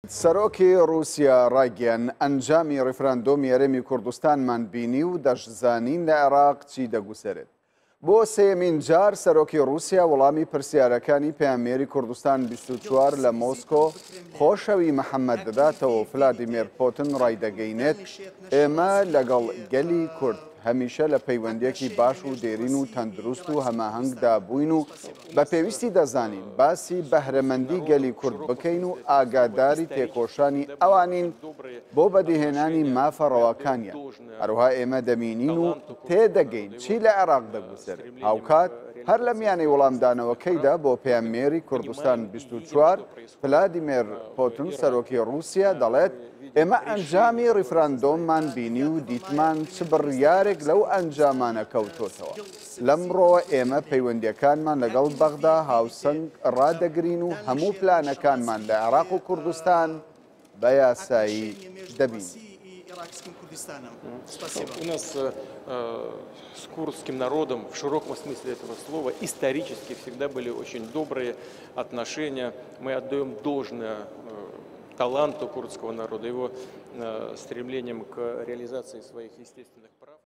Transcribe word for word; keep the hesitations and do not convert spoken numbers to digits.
سەرۆکی ڕووسیا ڕایگەیاند، ئەنجامی ڕیفراندۆمی هەرێمی کوردستانمان بینی و دەشزانین لە عێراق چی دەگوزەرێت. بۆ سێیەمین جار سەرۆکی ڕووسیا وەڵامی پرسیارەکانی پەیامنێری کوردستان بیست و چوار لە مۆسکۆ خۆشەوی محەممەد دەداتەوە و فلادیمێر پۆتن ڕایدەگەینێت، ئێمە لەگەڵ گەلی کورد هەمیشە لە پەیوەندیەکی باش و دێرین و تەندروست و هەماهەنگدا بووین و بە پێویستی دەزانین باسی بەهرەمەندی گەلی کورد بکەین و ئاگاداری تێکۆشانی ئەوانین بۆ بەدیهێنانی مافە ڕەواکانیان. هەروەها ئێمە دەبینین و تێدەگەین چی لە عێراق دەگوزەرێت. هاوکات هەر لە میانەی وەڵامدانەوەکەیدا بۆ پەیامنێری کوردستان بیست و چوار فلادیمێر پۆتن سەرۆکی ڕووسیا دەڵێت، ئێمە ئەنجامی ڕیفراندۆممان بینی و دیتمان چ بڕیارێک لەو ئەنجامانە کەوتۆتەوە. لەمڕۆوە ئێمە پەیوەندیەکانمان لەگەڵ بەغدا هاوسەنگ ڕادەگرین و هەموو پلانەکانمان لە عێراق و کوردستان بە یاسایی دەبینین. У нас с курдским народом в широком смысле этого слова исторически всегда были очень добрые отношения. Мы отдаем должное таланту курдского народа, его стремлением к реализации своих естественных прав.